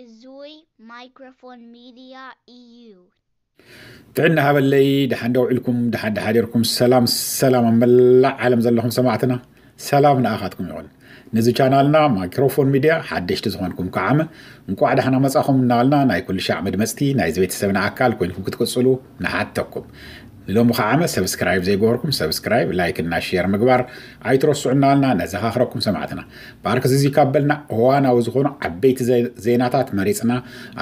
እዙይ ማይክሮፎን ሚድያ እዩ። ጥዕና ሃበለይ፣ ደሓን ዶ ውዕልኩም? ደሓን ደሓዲርኩም? ሰላም ሰላም ኣብ መላእ ዓለም ዘለኹም ሰማዕትና፣ ሰላም ንኣኻትኩም ይኹን። ነዚ ቻናልና ማይክሮፎን ሚድያ ሓደሽቲ ዝኾንኩም ከዓመ እንቋዕ ደሓና መጻኹም እናበልና፣ ናይ ኩሉ ሻዕ መድመጽቲ ናይዚ ቤተሰብና ኣካል ኮይንኩም ክትቅጽሉ ንሓተኩም። ንሎሚ ከዓመ ሰብስክራይብ ዘይገበርኩም ሰብስክራይብ፣ ላይክ እና ሼር ምግባር ኣይትረስዑ እናበልና ነዘኻኽረኩም ሰማዕትና። ብኣርክ እዚ ካብ በልና እዋናዊ ዝኾኑ ዓበይቲ ዘ-፣ ዜናታት መሪጽና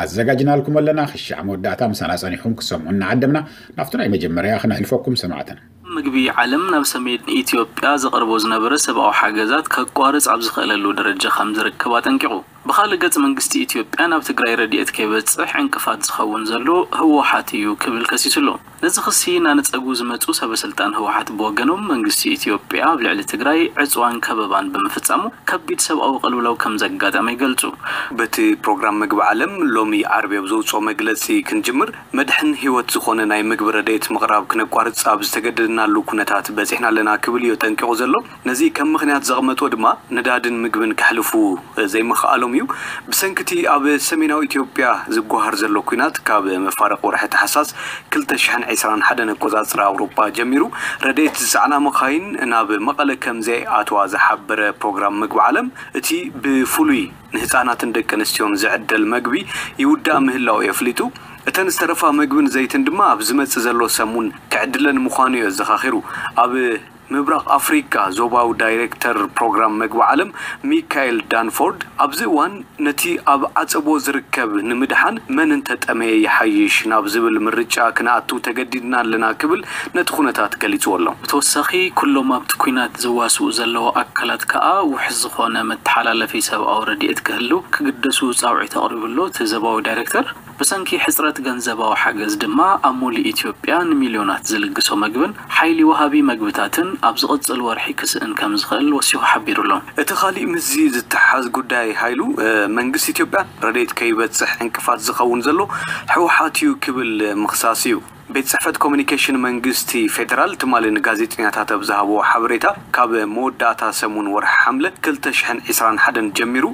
ኣዘጋጅናልኩም ኣለና። ክሻዕ መወዳእታ ምሳና ጸኒሕኩም ክሰምዑ እናዓደምና ናብቲ ናይ መጀመርያ ክነሕልፈኩም ሰማዕትና። ምግቢ ዓለም ናብ ሰሜን ኢትዮጵያ ዘቕርቦ ዝነበረ ሰብኣዊ ሓገዛት ከቋርጽ ኣብ ዝኽእለሉ ደረጃ ከም ዝርከብ ኣጠንቂቑ። ብኻልእ ገጽ መንግስቲ ኢትዮጵያ ናብ ትግራይ ረድኤት ከይበጽሕ ዕንቅፋት ዝኸውን ዘሎ ህወሓት እዩ ክብል ከሲሱ ኣሎ። ነዚ ክሲ እናነጸጉ ዝመጹ ሰበ ስልጣን ህወሓት ብወገኖም መንግስቲ ኢትዮጵያ ኣብ ልዕሊ ትግራይ ዕጽዋን ከበባን ብምፍጻሙ ከቢድ ሰብኣዊ ቅልውላው ከም ዘጋጠመ ይገልጹ። በቲ ፕሮግራም ምግቢ ዓለም ሎሚ ዓርቢ ኣብ ዘውፅኦ መግለፂ ክንጅምር መድሕን ህይወት ዝኾነ ናይ ምግቢ ረድኤት ምቕራብ ክነቋርፅ ኣብ ዝተገደድናሉ ኩነታት በፂሕና ኣለና ክብል እዩ ጠንቂቑ ዘሎ። ነዚ ከም ምኽንያት ዘቕመጦ ድማ ነዳድን ምግብን ከሕልፉ ዘይምኽኣሎም እዩ። ብሰንኪ እቲ ኣብ ሰሜናዊ ኢትዮጵያ ዝጓሃር ዘሎ ኲናት ካብ መፋርቕ ወርሒ ታሕሳስ ክልተ ሽሕን ዕስራን ሓደን ኣቆጻጽራ ኣውሮፓ ጀሚሩ ረድኤት ዝጸዕና መኻይን ናብ መቐለ ከም ዘይኣትዋ ዝሓበረ ፕሮግራም ምግቢ ዓለም፣ እቲ ብፍሉይ ንህጻናትን ደቂ ኣንስትዮን ዝዕደል መግቢ ይውዳእ ምህላው እዩ ኣፍሊጡ። እተን ዝተረፋ መግብን ዘይትን ድማ ኣብ ዝመጽእ ዘሎ ሰሙን ክዕድለን ምዃኑ እዩ ኣዘኻኺሩ። ኣብ ምብራቕ ኣፍሪቃ ዞባዊ ዳይሬክተር ፕሮግራም መግቢ ዓለም ሚካኤል ዳንፎርድ ኣብዚ እዋን ነቲ ኣብ ዓጸቦ ዝርከብ ንምድሓን መን እንተጠመየ ይሓይሽ ናብ ዝብል ምርጫ ክንኣቱ ተገዲድና ኣለና ክብል ነቲ ኩነታት ገሊጽዎ ኣሎ። ብተወሳኺ ኩሎም ኣብቲ ኲናት ዘዋስኡ ዘለዉ ኣካላት ከኣ ውሑስ ዝኾነ መተሓላለፊ ሰብኣዊ ረድኤት ክህሉ ክግደሱ ጻውዒት ኣቕሪቡ ኣሎ እቲ ዞባዊ ዳይሬክተር። ብሰንኪ ሕጽረት ገንዘባዊ ሓገዝ ድማ ኣብ ሙሉእ ኢትዮጵያ ንሚልዮናት ዝልግሶ መግብን ሓይሊ ወሃቢ መግብታትን ኣብ ዝቕጽል ወርሒ ክስእን ከም ዝኽእል ወሲኹ ሓቢሩ ኣሎ። እቲ ካሊእ ምስዚ ዝተሓዝ ጉዳይ ሃይሉ፣ እ፣ መንግስቲ ኢትዮጵያ ረድኤት ከይበጽሕ ዕንቅፋት ዝኸውን ዘሎ ህወሓት እዩ ክብል ምኽሳስ እዩ። ቤት ጽሕፈት ኮሚኒኬሽን መንግስቲ ፌደራል ትማሊ ንጋዜጠኛታት ኣብ ዝሃብዎ ሓበሬታ፣ ካብ መወዳእታ ሰሙን ወርሒ ሓምለ ክልተ ሽሕን ዕስራን ሓደን ጀሚሩ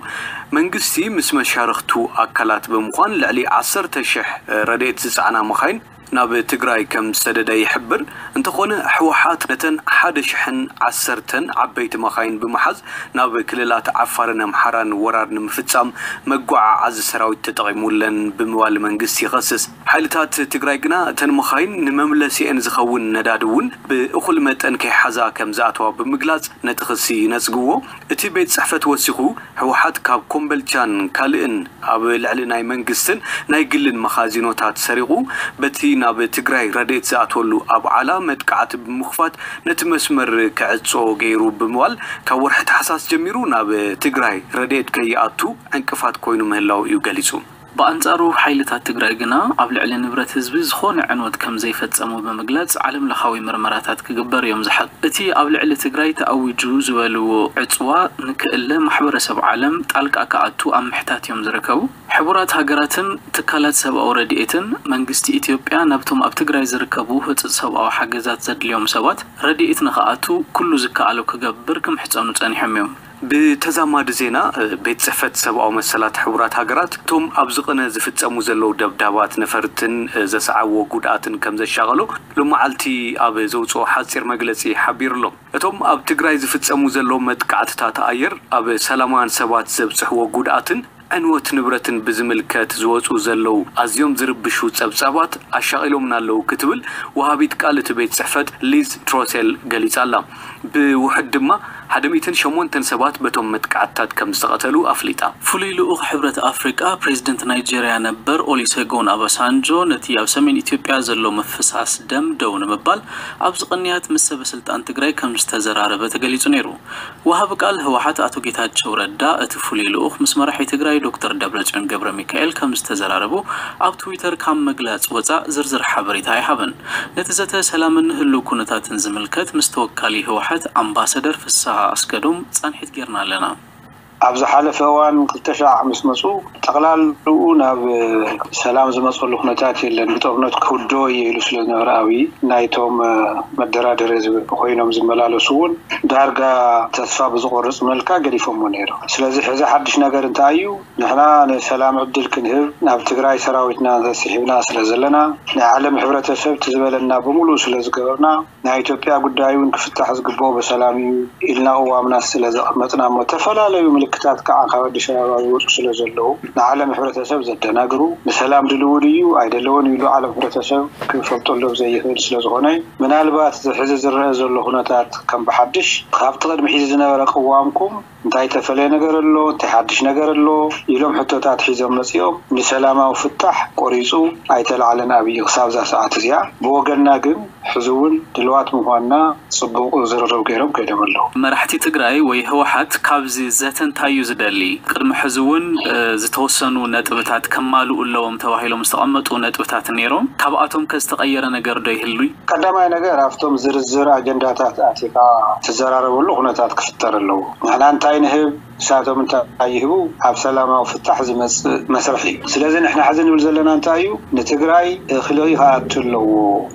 መንግስቲ ምስ መሻርኽቱ ኣካላት ብምዃን ልዕሊ ዓሰርተ ሽሕ ረድኤት ዝጸዕና መኻይን ናብ ትግራይ ከም ዝሰደደ ይሕብር። እንተኾነ ህወሓት ነተን ሓደ ሽሕን ዓሰርተን ዓበይቲ መኻይን ብምሓዝ ናብ ክልላት ዓፋርን ኣምሓራን ወራር ንምፍጻም መጓዓዓዚ ሰራዊት ተጠቒሙለን ብምባል መንግስቲ ይኸስስ። ሓይልታት ትግራይ ግና እተን መኻይን ንመምለሲኤን ዝኸውን ነዳዲ እውን ብእኹል መጠን ከይሓዛ ከም ዝኣተዋ ብምግላጽ ነቲ ክሲ ይነጽግዎ። እቲ ቤት ጽሕፈት ወሲኹ፣ ህወሓት ካብ ኮምበልቻን ካልእን ኣብ ልዕሊ ናይ መንግስትን ናይ ግልን መኻዚኖታት ሰሪቑ፣ በቲ ናብ ትግራይ ረድኤት ዝኣትወሉ ኣብዓላ መጥቃዕቲ ብምኽፋት ነቲ መስመር ክዕጾ ገይሩ ብምባል፣ ካብ ወርሒ ታሕሳስ ጀሚሩ ናብ ትግራይ ረድኤት ከይኣቱ ዕንቅፋት ኮይኑ ምህላው እዩ ገሊጹ። ብኣንጻሩ ሓይልታት ትግራይ ግና ኣብ ልዕሊ ንብረት ህዝቢ ዝኾነ ዕንወት ከም ዘይፈጸሙ ብምግላጽ፣ ዓለም ለኻዊ ምርመራታት ክግበር እዮም ዝሓቱ። እቲ ኣብ ልዕሊ ትግራይ ተኣዊጁ ዝበልዎ ዕጽዋ ንክእለ ማሕበረሰብ ዓለም ጣልቃ ክኣቱ ኣብ ምሕታት እዮም ዝርከቡ። ሕቡራት ሃገራትን ትካላት ሰብኣዊ ረድኤትን መንግስቲ ኢትዮጵያ ናብቶም ኣብ ትግራይ ዝርከቡ ህጹጽ ሰብኣዊ ሓገዛት ዘድልዮም ሰባት ረድኤት ንክኣቱ ኩሉ ዝከኣሎ ክገብር ክምሕጸኑ ጸኒሖም እዮም። ብተዛማዲ ዜና፣ ቤት ጽሕፈት ሰብኣዊ መሰላት ሕቡራት ሃገራት፣ እቶም ኣብዚ ቅነ ዝፍጸሙ ዘለዉ ደብዳባት ነፈርትን ዘስዓብዎ ጉድኣትን ከም ዘሻቐሎ ሎመዓልቲ ኣብ ዘውጽኦ ሓጺር መግለጺ ሓቢሩ ኣሎ። እቶም ኣብ ትግራይ ዝፍጸሙ ዘለዉ መጥቃዕትታት ኣየር ኣብ ሰላማውያን ሰባት ዘብጽሕዎ ጉድኣትን ዕንወት ንብረትን ብዝምልከት ዝወጹ ዘለዉ ኣዝዮም ዝርብሹ ጸብጻባት ኣሻቒሎምና ኣለዉ ክትብል ወሃቢት ቃል እቲ ቤት ጽሕፈት ሊዝ ትሮሴል ገሊጻ ኣላ። ብውሑድ ድማ ሓደ ሚእትን ሸሞንተን ሰባት በቶም መጥቃዕትታት ከም ዝተቐተሉ ኣፍሊጣ። ፍሉይ ልኡኽ ሕብረት ኣፍሪቃ ፕሬዚደንት ናይጄርያ ነበር ኦሊሴጎን ኣባሳንጆ ነቲ ኣብ ሰሜን ኢትዮጵያ ዘሎ ምፍሳስ ደም ደው ንምባል ኣብዚ ቅንያት ምስ ሰበ ስልጣን ትግራይ ከም ዝተዘራረበ ተገሊጹ ነይሩ። ወሃቢ ቃል ህወሓት ኣቶ ጌታቸው ረዳ እቲ ፍሉይ ልኡኽ ምስ መራሒ ትግራይ ዶክተር ደብረጽዮን ገብረ ሚካኤል ከም ዝተዘራረቡ ኣብ ትዊተር ካብ መግላጽ ወጻእ ዝርዝር ሓበሬታ ኣይሃበን። ነቲ ዘተ ሰላምን ህሉው ኩነታትን ዝምልከት ምስ ተወካሊ ህወሓት ኣምባሰደር ፍስሃ ኣስገዶም ጻንሒት ጌርና ኣለና። ኣብ ዝሓለፈ እዋን ክልተ ሺሕ ምስ መፁ ጠቕላልኡ ናብ ሰላም ዝመፀሉ ኩነታት የለን፣ ብጦርነት ክውደኦ እየ ኢሉ ስለ ዝነበረ ኣብይ ናይቶም መደራደሪ ኮይኖም ዝመላለሱ እውን ዳርጋ ተስፋ ብዝቆርፅ መልካ ገዲፎሞ ነይሮም። ስለዚ ሕዚ ሓድሽ ነገር እንታይ እዩ? ንሕና ንሰላም ዕድል ክንህብ ናብ ትግራይ ሰራዊትና ተስሒብና ስለ ዘለና ናይ ዓለም ሕብረተሰብ ትዝበለና ብምሉእ ስለ ዝገበርና ናይ ኢትዮጵያ ጉዳይ እውን ክፍታሕ ዝግብኦ ብሰላም እዩ ኢልና ቅዋምና ስለ ዘቐመጥና እሞ ተፈላለዩ ምልክታት ከዓ ካብ ኣዲስ ኣበባ ዝወፁ ስለ ዘለዉ ንዓለም ሕብረተሰብ ዘደናግሩ ንሰላም ድልው ድዩ ኣይደለዎን ኢሉ ዓለም ሕብረተሰብ ክፈልጠሎም ዘይኽእል ስለ ዝኾነ ምናልባት ሕዚ ዝረአ ዘሎ ኩነታት ከም ብሓድሽ ካብቲ ቅድሚ ሕዚ ዝነበረ ቅዋምኩም እንታይ ተፈለየ ነገር ኣሎ እንታይ ሓድሽ ነገር ኣሎ ኢሎም ሕቶታት ሒዞም መፂኦም ንሰላማዊ ፍታሕ ቆሪፁ ኣይተላዕለን ኣብይ ክሳብ እዛ ሰዓት እዚኣ ብወገንና ግን ሕዚ እውን ድልዋት ምኳንና ፅቡቅ ዝርርብ ገይሮም ከይዶም ኣለዉ። መራሕቲ ትግራይ ወይ ህወሓት ካብዚ ዘተ እንታይ እዩ ዝደሊ? ቅድሚ ሕዚ እውን ዝተወሰኑ ነጥብታት ከማልኡ ኣለዎም ተባሂሎም ዝተቐመጡ ነጥብታት ነይሮም። ካብኣቶም ከ ዝተቐየረ ነገር ዶ ይህሉይ? ቀዳማይ ነገር ኣብቶም ዝርዝር ኣጀንዳታት ኣቲኻ ትዘራረበሉ ኩነታት ክፍጠር ኣለዎ። ንሕና እንታይ ንህብ ንሳቶም እንታይ ይህቡ ኣብ ሰላማዊ ፍታሕ ዝመፅእ መስርሕ እዩ። ስለዚ ንሕና ሕዚ ንብል ዘለና እንታይ እዩ? ንትግራይ እኽሊ ክኣቱ ኣለዎ፣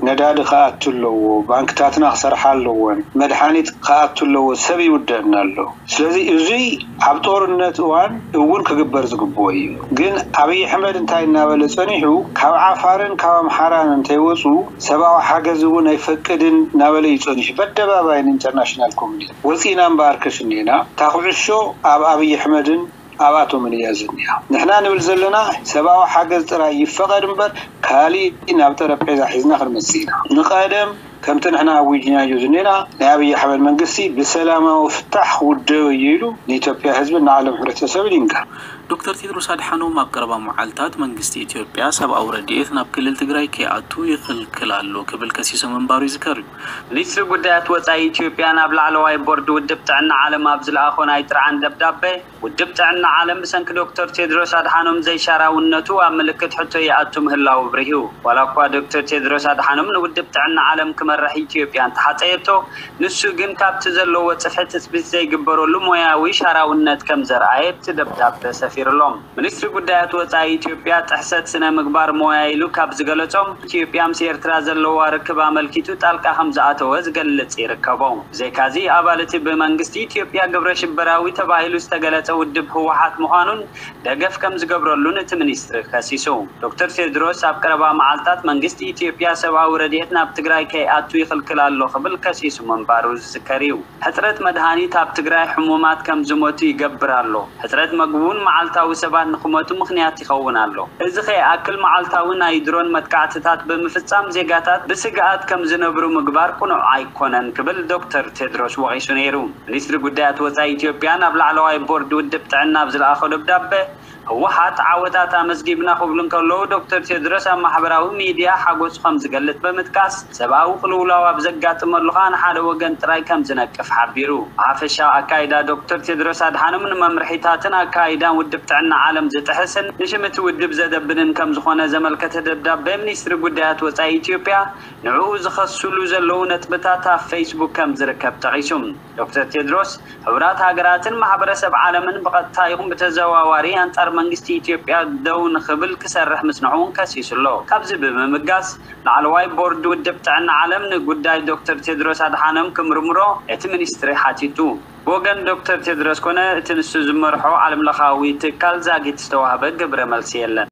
ነዳዲ ክኣቱ ኣለዎ፣ ባንክታትና ክሰርሓ ኣለወን፣ መድሓኒት ክኣቱ ኣለዎ፣ ሰብ ይውደአና ኣሎ። ስለዚ እዙይ ኣብ ጦርነት እዋን እውን ክግበር ዝግብኦ እዩ። ግን ኣብይ ኣሕመድ እንታይ እናበለ ፀኒሑ ካብ ዓፋርን ካብ ኣምሓራን እንተይወፁ ሰብኣዊ ሓገዝ እውን ኣይፈቅድን እናበለ እዩ ፀኒሑ በኣደባባይ ንኢንተርናሽናል ኮሚኒቲ ወፂና እምበኣርከስ እኒና እታ ኩዕሾ ኣብ ኣብይ ኣሕመድን ኣብኣቶምን እያ ዝኒኣ። ንሕና ንብል ዘለና ሰብኣዊ ሓገዝ ጥራይ ይፈቐድ እምበር ካሊእ ናብ ጠረጴዛ ሒዝና ክንመፅእ ኢና። ንቐደም ከምቲ ንሕና ኣዊጅናዮ ዝኒና ናይ ኣብይ ኣሕመድ መንግስቲ ብሰላማዊ ፍታሕ ክውደኦ እዩ ኢሉ ንኢትዮጵያ ህዝብን ንዓለም ሕብረተሰብን ይንገር። ዶክተር ቴድሮስ ኣድሓኖም ኣብ ቀረባ መዓልታት መንግስቲ ኢትዮጵያ ሰብኣዊ ረድኤት ናብ ክልል ትግራይ ከይኣቱ ይኽልክል ኣሎ ክብል ከሲሱ ምንባሩ ይዝከር እዩ። ሚኒስትሪ ጉዳያት ወፃኢ ኢትዮጵያ ናብ ላዕለዋይ ቦርድ ውድብ ጥዕና ዓለም ኣብ ዝለኣኾ ናይ ጥርዓን ደብዳበ፣ ውድብ ጥዕና ዓለም ብሰንኪ ዶክተር ቴድሮስ ኣድሓኖም ዘይሻራውነቱ ኣብ ምልክት ሕቶ ይኣቱ ምህላው ኣብሪሁ። ዋላ እኳ ዶክተር ቴድሮስ ኣድሓኖም ንውድብ ጥዕና ዓለም ክመርሕ ኢትዮጵያ እንተሓፀየቶ፣ ንሱ ግን ካብቲ ዘለዎ ፅፍሒ ትፅቢት ዘይግበረሉ ሞያዊ ሻራውነት ከም ዘርኣየ ኣብቲ ደብዳበ ሰፊሩሎም። ሚኒስትሪ ጉዳያት ወፃኢ ኢትዮጵያ ጥሕሰት ስነ ምግባር ሞያ ኢሉ ካብ ዝገለፆም፣ ኢትዮጵያ ምስ ኤርትራ ዘለዋ ርክብ ኣመልኪቱ ጣልቃ ከም ዝኣተወ ዝገልፅ ይርከቦ። ብዘይካዚ ኣባል እቲ ብመንግስቲ ኢትዮጵያ ግብረ ሽበራዊ ተባሂሉ ዝተገለፀ ውድብ ህወሓት ምዃኑን ደገፍ ከም ዝገብረሉን እቲ ሚኒስትሪ ከሲሱ። ዶክተር ቴድሮስ ኣብ ቀረባ መዓልታት መንግስቲ ኢትዮጵያ ሰብኣዊ ረድኤት ናብ ትግራይ ከይኣቱ ይኽልክል ኣሎ ክብል ከሲሱ ምንባሩ ዝዝከር እዩ። ሕፅረት መድሃኒት ኣብ ትግራይ ሕሙማት ከም ዝሞቱ ይገብር ኣሎ። ሕፅረት መግቢ እውን መዓልታዊ ሰባት ንክሞቱ ምኽንያት ይኸውን ኣሎ። እዚ ከይኣክል መዓልታዊ ናይ ድሮን መጥቃዕትታት ብምፍፃም ዜጋታት ብስግኣት ከም ዝነብሩ ምግባር ቅኑዕ ኣይኮነን ክብል ዶክተር ቴድሮስ ወቒሱ ነይሩ። ሚኒስትሪ ጉዳያት ወፃኢ ኢትዮጵያ ናብ ላዕለዋይ ቦርድ ውድብ ጥዕና ኣብ ዝለኣኾ ደብዳበ ህወሓት ዓወታት ኣመዝጊብና ክብሉ እንከለዉ ዶክተር ቴድሮስ ኣብ ማሕበራዊ ሚድያ ሓጎሱ ከም ዝገልፅ ብምጥቃስ ሰብኣዊ ቅልውላው ኣብ ዘጋጥመሉ ከዓ ንሓደ ወገን ጥራይ ከም ዝነቅፍ ሓቢሩ። ብሓፈሻ ኣካይዳ ዶክተር ቴድሮስ ኣድሓኖም ንመምርሒታትን ኣካይዳን ውድብ ጥዕና ዓለም ዝጥሕስን ንሽም እቲ ውድብ ዘደብንን ከም ዝኾነ ዘመልከተ ደብዳቤ ሚኒስትሪ ጉዳያት ወፃኢ ኢትዮጵያ ንዕኡ ዝኸስሉ ዘለዉ ነጥብታት ኣብ ፌስቡክ ከም ዝርከብ ጠቒሱ። ዶክተር ቴድሮስ፣ ሕቡራት ሃገራትን ማሕበረሰብ ዓለምን ብቐጥታ ይኹን ብተዘዋዋሪ ኣንጻር መንግስቲ ኢትዮጵያ ደው ንኽብል ክሰርሕ ምጽንሑ እውን ከሲሱ ኣሎ። ካብዚ ብምብጋስ፣ ላዕለዋይ ቦርድ ውድብ ጥዕና ዓለም ንጉዳይ ዶክተር ቴድሮስ ኣድሓኖም ክምርምሮ እቲ ሚኒስትሪ ሓቲቱ። ብወገን ዶክተር ቴድሮስ ኮነ እቲ ንሱ ዝመርሖ ዓለምለኻዊ ትካል ዛጊት ዝተዋህበ ግብረ መልሲ የለን።